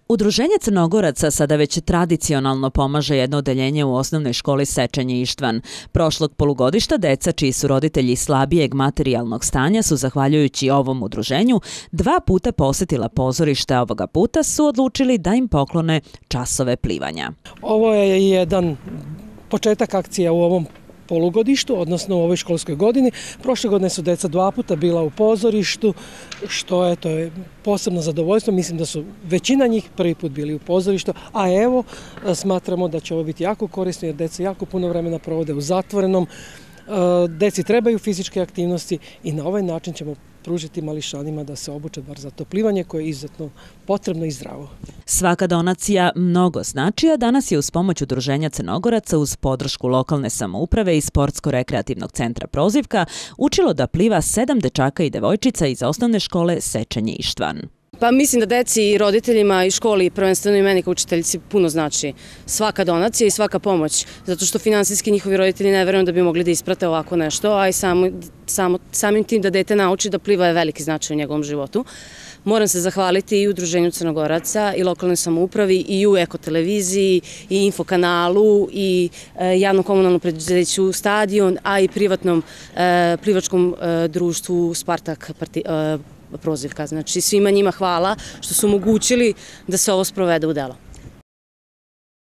Udruženje Crnogoraca sada već tradicionalno pomaže jedno odeljenje u osnovnoj školi Sečenje Ištvan. Prošlog polugodišta deca čiji su roditelji slabijeg materijalnog stanja su, zahvaljujući ovom udruženju, 2 puta posjetila pozorište, a ovoga puta su odlučili da im poklone časove plivanja. Ovo je jedan početak akcija u ovom polugodištu, odnosno u ovoj školskoj godini. Prošle godine su deca 2 puta bila u pozorištu, što je, to je posebno zadovoljstvo. Mislim da su većina njih prvi put bili u pozorištu, a evo smatramo da će ovo biti jako korisno jer deca jako puno vremena provode u zatvorenom. Deci trebaju fizičke aktivnosti i na ovaj način ćemo pružiti mališanima da se obuče bar za to plivanje koje je izuzetno potrebno i zdravo. Svaka donacija mnogo znači, a danas je uz pomoć Udruženja Crnogoraca uz podršku lokalne samouprave i Sportsko-rekreativnog centra Prozivka učilo da pliva 7 dečaka i devojčica iz osnovne škole Sečenje Ištvan. Pa mislim da deci i roditeljima i školi, prvenstveno i meni kao učiteljici, puno znači svaka donacija i svaka pomoć, zato što finansijski njihovi roditelji ne verujem da bi mogli da isprate ovako nešto, a i samim tim da dete nauči da pliva je veliki značaj u njegovom životu. Moram se zahvaliti i Udruženju Crnogoraca i lokalnoj samoupravi i u Eko televiziji i Infokanalu i javnom komunalnom preduzeću Stadion, a i privatnom plivačkom društvu Spartak Prozivka. Znači svima njima hvala što su omogućili da se ovo sprovede u delo.